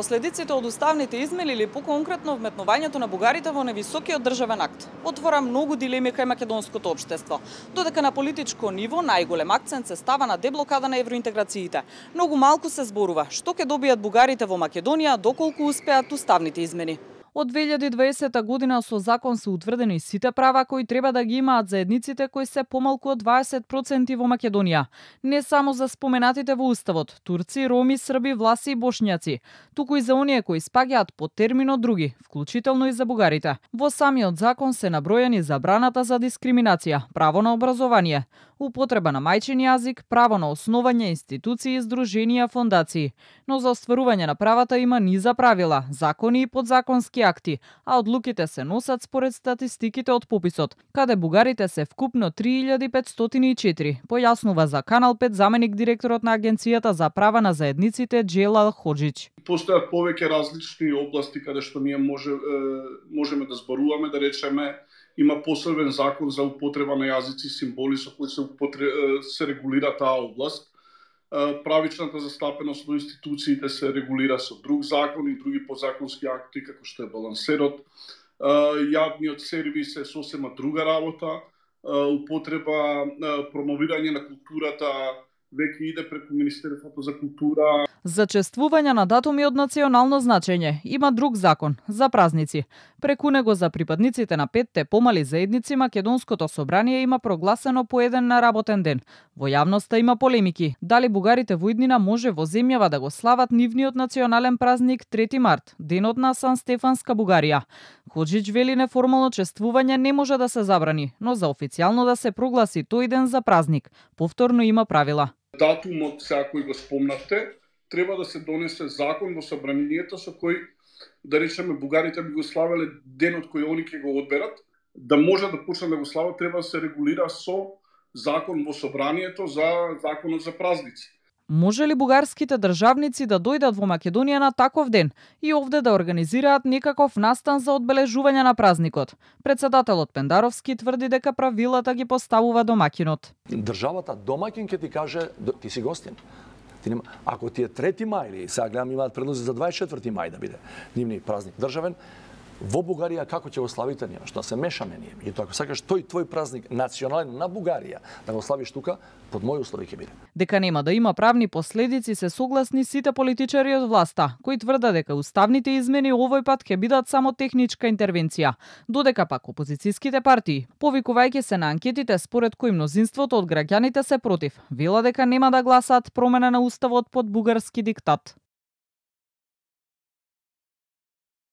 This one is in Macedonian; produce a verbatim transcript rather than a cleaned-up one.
последиците од уставните измени или поконкретно вметнувањето на бугарите во невисокиот државен акт отвора многу дилеми кај македонското општество. Додека на политичко ниво најголем акцент се става на деблокада на евроинтеграциите, многу малку се зборува што ќе добијат бугарите во Македонија доколку успеат уставните измени. Од две илјади и дваесета година со закон се утврдени сите права кои треба да ги имаат заедниците кои се помалку од дваесет проценти во Македонија. Не само за споменатите во уставот, турци, роми, срби, власи и бошњаци, туку и за оние кои спаѓаат под терминот други, вклучително и за бугарите. Во самиот закон се набројани забраната за дискриминација, право на образование, употреба на мајчин јазик, право на основање институции, здруженија, фондации. Но за остварување на правата има низа правила, закони и подзаконски акти, а одлуките се носат според статистиките од пописот, каде бугарите се вкупно три илјади петстотини и четири, појаснува за Канал пет заменик директорот на Агенцијата за права на заедниците Джелал Ходжич. Постојат повеќе различни области каде што ние може, можеме да зборуваме, да речеме. Има посебен закон за употреба на јазици и символи со кои се, употре... се регулира таа област. Правичната застапеност на институциите се регулира со друг закон и други подзаконски акти, како што е балансерот. Јавниот сервис е сосема друга работа. Употреба, промовирање на културата веќе иде преку Министерството за култура. За чествување на датуми од национално значење има друг закон за празници. Преку него за припадниците на петте помали заедници Македонското собрание има прогласено по еден на работен ден. Во јавноста има полемики дали бугарите во иднина може во земјава да го слават нивниот национален празник трети март, денот на Сан-Стефанска Бугарија. Ходжич вели неформално чествување не може да се забрани, но за официјално да се прогласи тој ден за празник, повторно има правила. Датумот, сега кој го спомнавте, треба да се донесе закон во собранието со кој, да речеме, бугарите би го славеле денот кој они ќе го одберат, да може да почне да го слават, треба да се регулира со закон во собранието за законот за празници. Може ли бугарските државници да дојдат во Македонија на таков ден и овде да организираат некаков настан за одбележување на празникот? Председателот Пендаровски тврди дека правилата ги поставува домаќинот. Државата домаќин ќе ти каже ти си гостин. Ти нема... Ако ти е трети мај или сега гледам имаат предлози за дваесет и четврти мај да биде нивни празник државен, во Бугарија како ќе го славите ние? Што се мешаме ние? И тоа ако сакаш тој твој празник национален на Бугарија да го славиш тука, под мои услови ќе биде. Дека нема да има правни последици се согласни сите политичари од власта, кои тврдат дека уставните измени овој пат ќе бидат само техничка интервенција, додека пак опозицијските партии, повикувајќи се на анкетите според кои мнозинството од граѓаните се против, вела дека нема да гласаат промена на уставот под бугарски диктат.